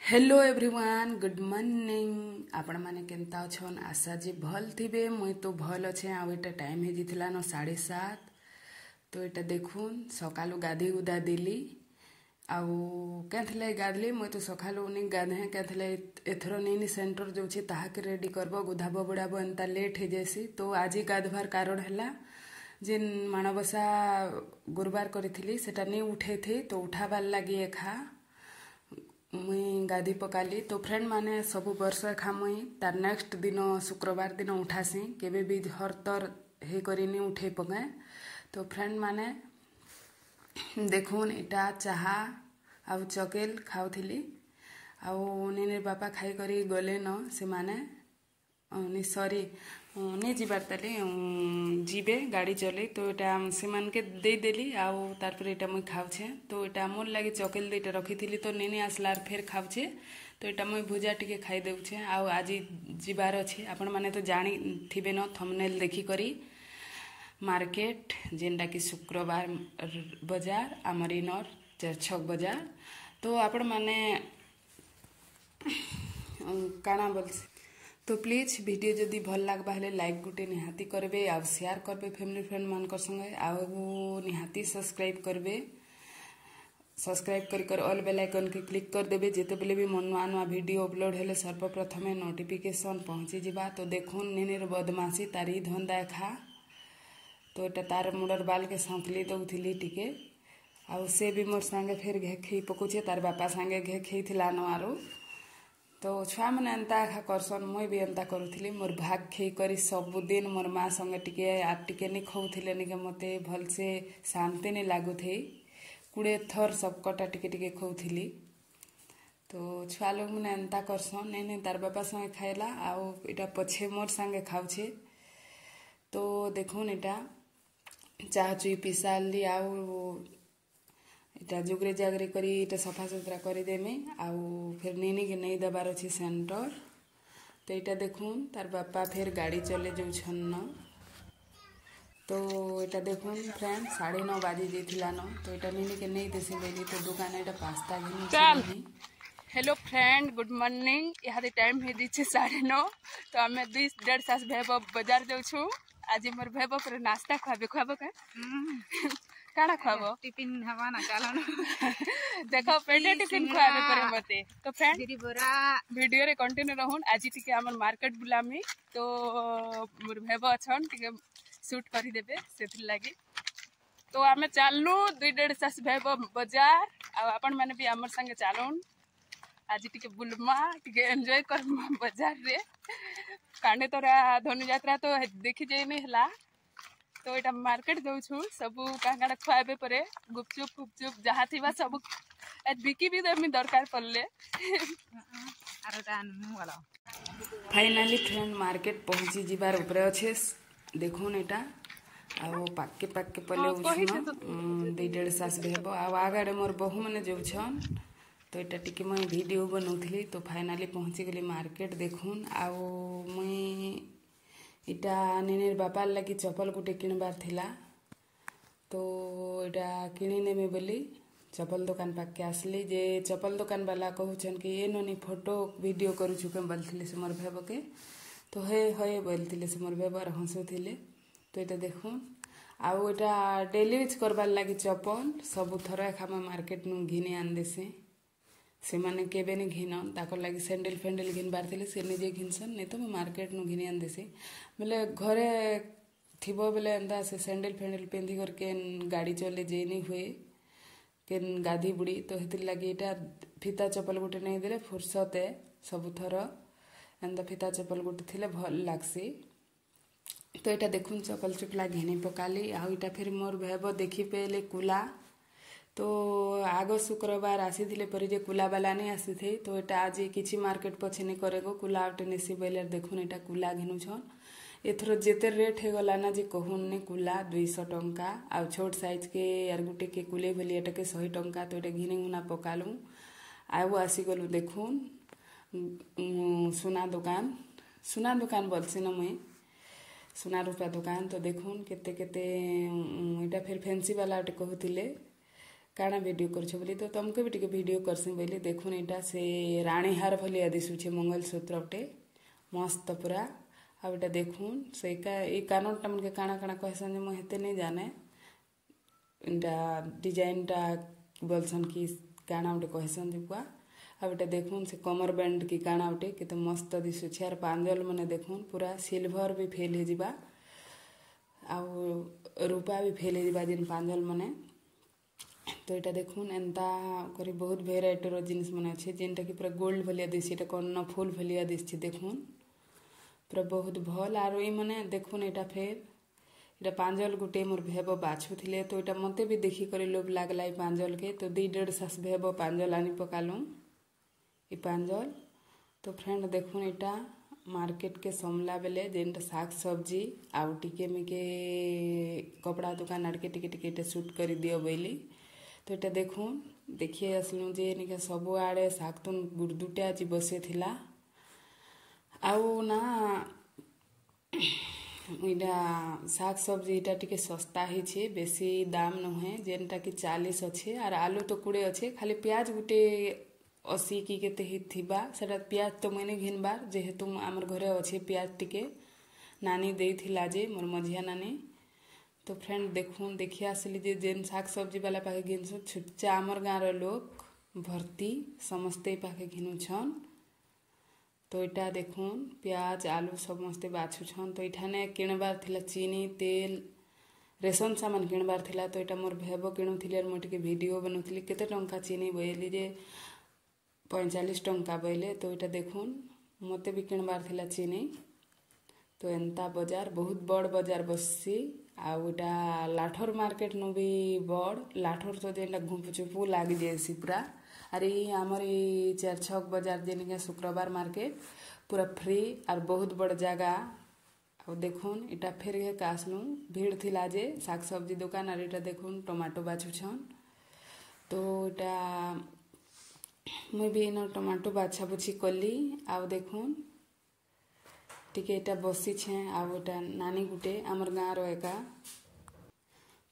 Hello everyone, good morning. ଆପଣମାନେ କେନ୍ତା ଅଛନ୍? ଆଶା ଯେ ଭଲ୍ ଥିବେ। ମୁଇଁ ତ ଭଲ୍ ଅଛେ। ଆଉ ଏଇଟା ଟାଇମ୍ ହେଇଯାଇଥିଲା ନ 7:30। ତ ଏଇଟା ଦେଖୁନ୍, ସକାଳୁ ଗାଧେଇ ଗୁଧା ଦେଲି। ଆଉ କେନ୍ଥିଲେ ଗାଧଲି? ମୁଇଁ ତ ସକାଳୁ ନି ଗାଧେ। କେନ୍ଥିଲେ ଏଥର ନେଇନି ସେଣ୍ଟର ଯାଉଛେ, ତାହାକେ ରେଡ଼ି କରବ, ଗୁଧାବ ବୁଡ଼ାବ, ଏନ୍ତା ଲେଟ୍ ହେଇଯାଏସି। ତ ଆଜି ଗାଧବାର କାରଣ ହେଲା ଯେନ୍ ମାଣବସା ଗୁରୁବାର କରିଥିଲି, ସେଟା ନି ଉଠେଇଥି। ତ ଉଠାବାର୍ ଲାଗି ଏଖା ମୁଇଁ ଗାଧି ପକାଲି। ତ ଫ୍ରେଣ୍ଡ ମାନେ, ସବୁ ବର୍ଷ ଏଖା ମୁଇଁ ତାର ନେକ୍ସଟ ଦିନ ଶୁକ୍ରବାର ଦିନ ଉଠାସି। କେବେ ବି ହରତର ହେଇକରି ନି ଉଠେଇ ପକାଏ। ତ ଫ୍ରେଣ୍ଡ ମାନେ ଦେଖୁନ୍, ଏଇଟା ଚାହା ଆଉ ଚକେଲ ଖାଉଥିଲି। ଆଉ ନିନିର ବାପା ଖାଇକରି ଗଲେନ। ସେମାନେ ନି ସରି ନି ଯିବାର ତାଲି ଯିବେ ଗାଡ଼ି ଚଲେଇ। ତ ଏଇଟା ସେମାନକେ ଦେଇଦେଲି ଆଉ ତାରପରେ ଏଇଟା ମୁଇଁ ଖାଉଛେ। ତ ଏଇଟା ମୋର୍ ଲାଗି ଚକେଲ ଦୁଇଟା ରଖିଥିଲି, ତ ନିନି ଆସିଲାର ଫେର୍ ଖାଉଛେ। ତ ଏଇଟା ମୁଇଁ ଭୁଜା ଟିକେ ଖାଇ ଦେଉଛେ। ଆଉ ଆଜି ଯିବାର ଅଛି, ଆପଣମାନେ ତ ଜାଣିଥିବେ ନ ଥମ୍ବନେଲ୍ ଦେଖିକରି, ମାର୍କେଟ, ଯେନ୍ଟାକି ଶୁକ୍ରବାର ବଜାର, ଆମର ଇନର୍ ଛକ ବଜାର। ତ ଆପଣମାନେ କାଣା ବୋଲସି? ତ ପ୍ଲିଜ୍, ଭିଡ଼ିଓ ଯଦି ଭଲ ଲାଗ୍ବା ହେଲେ ଲାଇକ୍ ଗୁଟେ ନିହାତି କରିବେ ଆଉ ସେୟାର କରିବେ ଫ୍ୟାମିଲି ଫ୍ରେଣ୍ଡ ମାନଙ୍କର ସାଙ୍ଗେ ଆଉ ନିହାତି ସବସ୍କ୍ରାଇବ୍ କରିବେ। ସବସ୍କ୍ରାଇବ୍ କରି କରି ଅଲ୍ ବେଲ୍ ଆଇକନ୍କେ କ୍ଲିକ୍ କରିଦେବେ, ଯେତେବେଲେ ବି ମୋ ନୂଆ ନୂଆ ଭିଡ଼ିଓ ଅପଲୋଡ଼ ହେଲେ ସର୍ବପ୍ରଥମେ ନୋଟିଫିକେସନ୍ ପହଞ୍ଚିଯିବା। ତ ଦେଖୁନ୍, ନିନିର ବଦମାସି, ତାରି ଧନ୍ଦା ଏଖା। ତ ଏଇଟା ତାର ମୁଣ୍ଡର ବାଲ୍କେ ସନ୍ତଲି ଦଉଥିଲି ଟିକେ। ଆଉ ସେ ବି ମୋର୍ ସାଙ୍ଗେ ଫେର୍ ଘେ ଖେଇ ପକଉଛେ। ତାର ବାପା ସାଙ୍ଗେ ଘେ ଖେଇଥିଲା ନ ଆରୁ। ତ ଛୁଆମାନେ ଏନ୍ତା ଏଖା କରସନ୍। ମୁଇଁ ବି ଏନ୍ତା କରୁଥିଲି। ମୋର୍ ଭାଗ ଖେଇ କରି ସବୁଦିନ ମୋର୍ ମା ସଙ୍ଗେ ଟିକେ ଆର୍ ଟିକେ ନି ଖଉଥିଲେ ନିକେ ମତେ ଭଲସେ ଶାନ୍ତି ନି ଲାଗୁଥେଇ। 20 ଥର ସବକଟା ଟିକେ ଟିକେ ଖଉଥିଲି। ତ ଛୁଆ ଲୋକମାନେ ଏନ୍ତା କରସନ୍। ନାଇଁ ନାଇଁ, ତାର ବାପା ସାଙ୍ଗେ ଖାଇଲା ଆଉ ଏଇଟା ପଛେ ମୋର୍ ସାଙ୍ଗେ ଖାଉଛେ। ତ ଦେଖୁନ୍, ଏଇଟା ଚାହା ଚୁଇ ପିଇ ସାରିଲି ଆଉ ଏଇଟା ଜୁଗରେ ଜାଗରେ କରି ଏଇଟା ସଫା ସୁତରା କରିଦେମି। ଆଉ ଫେର୍ ନିନିକେ ନେଇ ଦେବାର ଅଛି ସେଣ୍ଟର। ତ ଏଇଟା ଦେଖୁନ୍, ତାର ବାପା ଫେର୍ ଗାଡ଼ି ଚଲେଇ ଯାଉଛନ୍ ନ। ତ ଏଇଟା ଦେଖୁନ୍ ଫ୍ରେଣ୍ଡ, 9:30 ବାଜି ଯାଇଥିଲା ନ। ତ ଏଇଟା ନିନିକେ ନେଇ ଦେସି ବୋଇଲି ତ ଦୋକାନ ଏଇଟା ପାସ୍ତା ଘିନି। Hello friend, good morning. ଇହାଦେ ଟାଇମ୍ ହେଇଯାଇଛେ 9:30। ତ ଆମେ ଦୁଇ ଦେଢ଼ ସାସ୍ ଭେବ ବଜାର ଯାଉଛୁ। ଆଜି ମୋର ଭେବ ପରେ ନାସ୍ତା ଖୁଆବେ। ଖୁଆବ କା? କାଣା ଖୁଆବ? ଟିଫିନ ହେବା ନା, ଚାଲନ। ଦେଖ, ପେଟେ ଟିଫିନ ଖୁଆବେ ପରେ ମତେ। ତ ଫ୍ରେଣ୍ଡ, ବିରି ବରା। ଭିଡ଼ିଓରେ କଣ୍ଟିନ୍ୟୁ ରହୁନ୍। ଆଜି ଟିକେ ଆମର ମାର୍କେଟ ବୁଲାମି। ତ ମୋର ଭେବ ଅଛନ୍, ଟିକେ ସୁଟ୍ କରିଦେବେ ସେଥିର୍ଲାଗି। ତ ଆମେ ଚାଲଲୁ ଦୁଇ ଦେଢ଼ ସାସ୍ ଭେବ ବଜାର। ଆଉ ଆପଣମାନେ ବି ଆମର ସାଙ୍ଗେ ଚାଲୁନ୍। ଆଜି ଟିକେ ବୁଲମା, ଟିକେ ଏନ୍ଜୟ କର୍ମା ବଜାରରେ। କାଣ୍ଡେତରା ଧନୁଯାତ୍ରା ତ ଦେଖି ଯାଇନି ହେଲା। ତ ଏଇଟା ମାର୍କେଟ ଯାଉଛୁ। ସବୁ କାଁ କାଣା ଖୁଆବେ ପରେ, ଗୁପଚୁପ ଫୁପଚୁପ ଯାହା ଥିବା ସବୁ ବିକି ବି ଦେମି ଦରକାର ପଡ଼ିଲେ। ଫାଇନାଲି ଫ୍ରେଣ୍ଡ, ମାର୍କେଟ ପହଞ୍ଚି ଯିବାର ଉପରେ ଅଛେ। ଦେଖୁନ୍ ଏଇଟା, ଆଉ ପାକ୍କେ ପାକ୍କେ ପଲେଉଛନ୍ ଦୁଇ ଦେଢ଼ ସାସ୍ ହେବ। ଆଉ ଆଗାଡ଼େ ମୋର୍ ବୋହୂମାନେ ଯାଉଛନ୍। ତ ଏଇଟା ଟିକେ ମୁଇଁ ଭିଡ଼ିଓ ବନଉଥିଲି। ତ ଫାଇନାଲି ପହଞ୍ଚିଗଲି ମାର୍କେଟ, ଦେଖୁନ୍। ଆଉ ମୁଇଁ ଏଇଟା ନିନିର ବାପାର ଲାଗି ଚପଲ ଗୋଟେ କିଣିବାର ଥିଲା। ତ ଏଇଟା କିଣିନେମି ବୋଲି ଚପଲ ଦୋକାନ ପାଖକେ ଆସିଲି ଯେ ଚପଲ ଦୋକାନ ବାଲା କହୁଛନ୍ କି ଏ ନନି, ଫଟୋ ଭିଡ଼ିଓ କରୁଛୁ କେଁ ବୋଲିଥିଲେ ସେ ମୋର୍ ଭେବକେ। ତ ହେ ହେ ବୋଲିଥିଲେ ସେ ମୋର୍ ଭେବ, ହସୁଥିଲେ। ତ ଏଇଟା ଦେଖୁନ୍, ଆଉ ଏଇଟା ଡେଲି ୟୁଜ୍ କରବାର୍ ଲାଗି ଚପଲ ସବୁଥର ଏଖା ମୁଇଁ ମାର୍କେଟନୁ ଘିନି ଆଣିଦେସି। ସେମାନେ କେବେ ନି ଘିନନ୍। ତାକର୍ ଲାଗି ସ୍ୟାଣ୍ଡେଲ୍ ଫ୍ୟାଣ୍ଡେଲ୍ ଘିନବାର୍ ଥିଲେ ସେ ନିଜେ ଘିନସନ୍, ନାଇଁ ତ ମୁଇଁ ମାର୍କେଟନୁ ଘିନି ଆଣିଦେସି। ବେଲେ ଘରେ ଥିବ ବେଲେ ଏନ୍ତା ସେ ସ୍ୟାଣ୍ଡେଲ୍ ଫ୍ୟାଣ୍ଡେଲ୍ ପିନ୍ଧିକରି କେନ୍ ଗାଡ଼ି ଚଲେଇ ଯେଇନି ହୁଏ, କେନ୍ ଗାଧି ବୁଡ଼ି। ତ ହେଥିର୍ ଲାଗି ଏଇଟା ଫିତା ଚପଲ ଗୋଟେ ନେଇଦେଲେ ଫୁର୍ସତ ଏ। ସବୁଥର ଏନ୍ତା ଫିତା ଚପଲ ଗୋଟେ ଥିଲେ ଭଲ୍ ଲାଗ୍ସି। ତ ଏଇଟା ଦେଖୁନ୍, ଚପଲ ଚୁପଲା ଘିନି ପକାଲି। ଆଉ ଏଇଟା ଫେର୍ ମୋର୍ ଭେବ ଦେଖି ପାଇଲେ କୁଲା। ତ ଆଗ ଶୁକ୍ରବାର ଆସିଥିଲେ ପରି ଯେ କୁଲାବାଲା ନାଇଁ ଆସିଥେ। ତ ଏଇଟା ଆଜି କିଛି ମାର୍କେଟ ପଛେ ନି କରେ ଗୋ, କୁଲା ଗୋଟେ ନେସି ବୋଇଲେ। ଦେଖୁନ୍, ଏଇଟା କୁଲା ଘିନୁଛନ୍। ଏଥର ଯେତେ ରେଟ୍ ହେଇଗଲା ନା ଯେ କହୁନ୍ ନି। କୁଲା 200 ଟଙ୍କା ଆଉ ଛୋଟ ସାଇଜ୍ କେ ଆର୍ ଗୁଟେ କେ କୁଲେ ବୋଲି ଏଟାକେ 100 ଟଙ୍କା। ତ ଏଇଟା ଘିନି ଘୁନା ପକାଲୁ ଆଉ ଆସିଗଲୁ। ଦେଖୁନ୍, ସୁନା ଦୋକାନ, ସୁନା ଦୋକାନ ବୋଲସି ନା ମୁଇଁ, ସୁନା ରୂପା ଦୋକାନ। ତ ଦେଖୁନ୍ କେତେ କେତେ। ଏଇଟା ଫେର୍ ଫେନ୍ସି ବାଲା ଗୋଟେ କହୁଥିଲେ। କାଣା ଭିଡ଼ିଓ କରୁଛ ବୋଲି, ତ ତମକେ ବି ଟିକେ ଭିଡ଼ିଓ କରସି ବୋଲି। ଦେଖୁନ୍ ଏଇଟା ସେ ରାଣୀହାର ଭଳିଆ ଦିଶୁଛେ ମଙ୍ଗଳସୂତ୍ରଟେ, ମସ୍ତ ପୁରା। ଆଉ ଏଇଟା ଦେଖୁନ୍ ସେଇକା ଏଇ କାନରଟା ମନକେ କାଣା କାଣା କହେସନ୍ ଯେ ମୁଁ ହେତେ ନେଇ ଜାନେ। ଏଇଟା ଡିଜାଇନଟା ବୋଲସନ୍ କି କାଣା ଗୋଟେ କହେସନ୍ ଯେ ପୁଆ। ଆଉ ଏଇଟା ଦେଖୁନ୍ ସେ କମର ବ୍ୟାଣ୍ଡ କି କାଣା ଗୋଟେ କେତେ ମସ୍ତ ଦିଶୁଛେ। ଆର୍ ପାଞ୍ଜଲ ମାନେ ଦେଖୁନ୍ ପୁରା ସିଲଭର ବି ଫେଲ୍ ହେଇଯିବା ଆଉ ରୂପା ବି ଫେଲ୍ ହେଇଯିବା ଯେନ୍ ପାଞ୍ଜଲ ମାନେ। ତ ଏଇଟା ଦେଖୁନ୍ ଏନ୍ତା କରି ବହୁତ ଭେରାଇଟିର ଜିନିଷ ମାନେ ଅଛି, ଯେନ୍ଟା କି ପୁରା ଗୋଲ୍ଡ ଭଳିଆ ଦିଶୁଛି। ଏଇଟା କର୍ଣ୍ଣ ଫୁଲ ଭଳିଆ ଦିଶୁଛି, ଦେଖୁନ୍ ପୁରା ବହୁତ ଭଲ। ଆରୁ ଏଇ ମାନେ ଦେଖୁନ୍ ଏଇଟା ଫେର୍ ଏଇଟା ପାଞ୍ଜଲ ଗୁଟେ ମୋର ଭେବ ବାଛୁଥିଲେ, ତ ଏଇଟା ମତେ ବି ଦେଖିକରି ଲୋଭ ଲାଗଲା ଏଇ ପାଞ୍ଜଲକେ। ତ ଦୁଇ ଦେଢ଼ ଶାଶ ଭେବ ପାଞ୍ଜଲ ଆନି ପକାଲୁ ଇ ପାଞ୍ଜଲ। ତ ଫ୍ରେଣ୍ଡ ଦେଖୁନ୍ ଏଇଟା ମାର୍କେଟ କେ ସମଲା ବେଲେ ଯେନ୍ଟା ଶାଗ ସବଜି ଆଉ ଟିକେ ମିକେ କପଡ଼ା ଦୋକାନ ଆଡ଼କେ ଟିକେ ଟିକେ ଏଇଟା ସୁଟ୍ କରିଦିଅ ବୋଇଲି। ତ ଏଇଟା ଦେଖୁନ୍ ଦେଖି ଆସିଲୁ ଯେ ନିକେ ସବୁଆଡ଼େ ଶାଗ ତୁନ୍ ଗୁର୍ଦୁଟା ଆଜି ବସେଇଥିଲା। ଆଉ ନା ଏଇଟା ଶାଗ ସବଜି ଏଇଟା ଟିକେ ଶସ୍ତା ହେଇଛେ, ବେଶୀ ଦାମ ନୁହେଁ, ଯେନ୍ଟା କି 40 ଅଛେ। ଆର୍ ଆଲୁ ତ 20 ଅଛେ, ଖାଲି ପିଆଜ ଗୁଟେ 80 କି କେତେ ହେଇଥିବା। ସେଟା ପିଆଜ ତ ମୁଇଁ ନାଇଁ ଘିନବାର୍, ଯେହେତୁ ଆମର ଘରେ ଅଛେ ପିଆଜ ଟିକେ ନାନୀ ଦେଇଥିଲା ଯେ ମୋର୍ ମଝିଆ ନାନୀ। ତ ଫ୍ରେଣ୍ଡ ଦେଖୁନ୍ ଦେଖି ଆସିଲି ଯେ ଯେନ୍ ଶାଗ ସବଜି ବାଲା ପାଖେ ଘିନସୁଁ, ଛୁଚ୍ଚା ଆମର୍ ଗାଁର ଲୋକ୍ ଭର୍ତ୍ତି ସମସ୍ତେ ପାଖେ ଘିନୁଛନ୍। ତ ଏଇଟା ଦେଖୁନ୍ ପିଆଜ ଆଲୁ ସମସ୍ତେ ବାଛୁଛନ୍। ତ ଏଇଠାନେ କିଣବାର୍ ଥିଲା ଚିନି ତେଲ ରେସନ ସାମାନ କିଣବାର୍ ଥିଲା। ତ ଏଇଟା ମୋର୍ ଭେବ କିଣୁଥିଲେ, ମୁଇଁ ଟିକେ ଭିଡ଼ିଓ ବନଉଥିଲି। କେତେ ଟଙ୍କା ଚିନି ବୋଇଲି ଯେ 45 ଟଙ୍କା ବୋଇଲେ। ତ ଏଇଟା ଦେଖୁନ୍ ମତେ ବି କିଣବାର୍ ଥିଲା ଚିନି। ତ ଏନ୍ତା ବଜାର ବହୁତ ବଡ଼ ବଜାର ବସିସି। ଆଉ ଏଇଟା ଲାଠୋର ମାର୍କେଟ ନୁ ବି ବଡ଼, ଲାଠୋର ତ ଯେନ୍ଟା ଘୁଁପୁଚୁପୁ ଲାଗି ଯାଏସି ପୁରା। ଆର୍ ଏଇ ଆମର ଏଇ ଚାରି ଛକ ବଜାର ଯେନିକେ ଶୁକ୍ରବାର ମାର୍କେଟ ପୁରା ଫ୍ରି ଆର୍ ବହୁତ ବଡ଼ ଜାଗା। ଆଉ ଦେଖୁନ୍ ଏଇଟା ଫେର୍ ଘେକ୍ ଆସିଲୁ, ଭିଡ଼ ଥିଲା ଯେ ଶାଗ ସବଜି ଦୋକାନ। ଆର୍ ଏଇଟା ଦେଖୁନ୍ ଟମାଟୋ ବାଛୁଛନ୍। ତ ଏଇଟା ମୁଇଁ ବି ଏଇନ ଟମାଟୋ ବାଛା ବୁଛି କଲି। ଆଉ ଦେଖୁନ୍ ଟିକେ ଏଇଟା ବସିଛେଁ। ଆଉ ଏଇଟା ନାନୀ ଗୁଟେ ଆମର ଗାଁର ଏକା।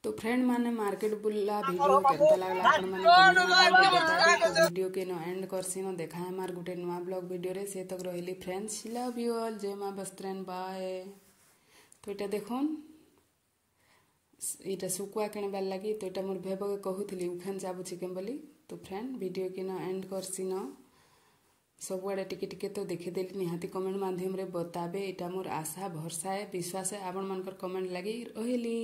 ତ ଫ୍ରେଣ୍ଡ ମାନେ ମାର୍କେଟ ବୁଲଲା ଭିଡ଼ିଓ କେନ୍ତା ଲାଗଲା ଆପଣ ମାନେ କମେଣ୍ଟ ମାଧ୍ୟମରେ ବତାବେ। ତ ଭିଡ଼ିଓ କେ ନ ଏଣ୍ଡ କରସି ନ, ଦେଖା हमार ଗୁଟେ ନୂଆ ବ୍ଲଗ ଭିଡ଼ିଓରେ। ସେ ତକ ରହିଲି ଫ୍ରେଣ୍ଡସ୍, ଲଭ୍ you all, ଜୟ ମା ବସ୍ତ୍ରେନ୍, ବାଏ। ତ ଏଇଟା ଦେଖୁନ୍ ଏଇଟା ଶୁଖୁଆ କିଣିବାର ଲାଗି। ତ ଏଇଟା ମୋର ଭେବକେ କହୁଥିଲି ଉଖାନ ଚାବୁଛି କେନ୍ ବୋଲି। ତ ଫ୍ରେଣ୍ଡ ଭିଡ଼ିଓ କି ନ ଏଣ୍ଡ କରସି ନ, ସବୁଆଡ଼େ ଟିକେ ଟିକେ ତ ଦେଖିଦେଲି। ନିହାତି କମେଣ୍ଟ ମାଧ୍ୟମରେ ବତାବେ, ଏଇଟା ମୋର ଆଶା ଭରସା ଏ ବିଶ୍ୱାସ ଆପଣମାନଙ୍କର କମେଣ୍ଟ ଲାଗି ରହିଲି।